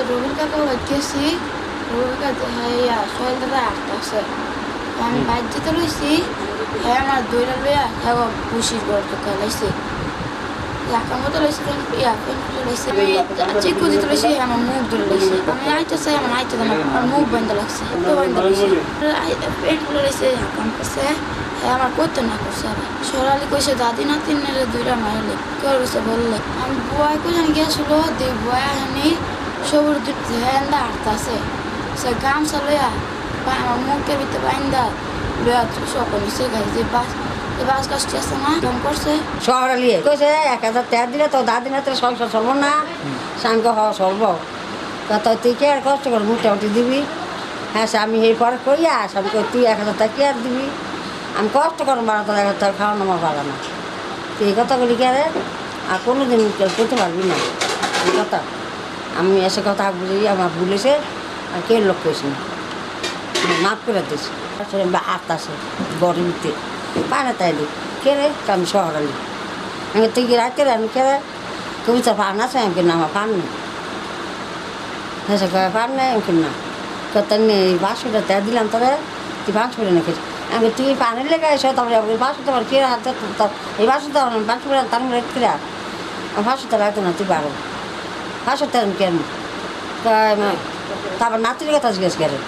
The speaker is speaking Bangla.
রবির কাকা গেছি রবির কাছে হ্যাঁ সোহেল দাদা আসতেছে আমি বাইর যেতে লইছি হ্যাঁ আমার দইটা লইয়া হ্যাঁ খুশির ঘর তো খেলাইছে একার মতো লইছে লইছে চিকু দিতে লইছে আমার মুখ ধরে লইছে আমি আইতে চাই আমার আইতে দেন আমার মুখ বন্ধ লাগছে তো বন্ধ লইছে পেট খুলে লইছে হাকাম করছে হ্যাঁ আমার করতে না করছে সরালি কইছে দাদি নাতিনের দুইটা মারলে কেউ গেছে বললে আমি বয় কোথায় গেছিল দেখ বয় আনি সবুর হ্যাঁ হাঁটতেছে সে গামছা লইয়া আমার মুখের ভিতরে বাইন্দা লইয়া সকল মিশে গেছে যে বাস কাজটি আছে না কাম করছে শহরালি কইছে 1000 টাকা দিলে তো দাদি না তো সংসার চলবো না সাঙ্গ হওয়া চলবো তো তুই কে আর কষ্ট করে মোটামুটি দিবি হ্যাঁ আমি এই পরে কইয়া আমি কই তুই 1000 টাকা কি আর দিবি আমি কষ্ট করে মারা তো 1000 টাকা খাওয়ানো আমার পারা না তুই এই কথাগুলি কে রে আর কোনো দিন করতে পারবি না এই কথা আমি এসে কথা বুঝি আমার ভুলেছে আর কে লোক কইস না মাফ করে দিস আসতেছে গরিবতে পানে তাইলে কে রে আমি শহরালি আমি তুই কি রাখতে রে আমি কে রে কবিতা পান আছে আমি না আমার পান নেই হ্যাঁ পান নেই আমি না কত নেই 500 টাকা দিলাম তবে তুই 500 টাকা নাকি আমি তুই পানের লেগে এসো তারপরে 500 টাকা কে হাতে এই 500 টাকা 500 টাকা তার রেট কিরা 500 টাকা রাখতো না তুই পারো 500 টাকা কেন তারপর নাতির কথা জিজ্ঞেস করে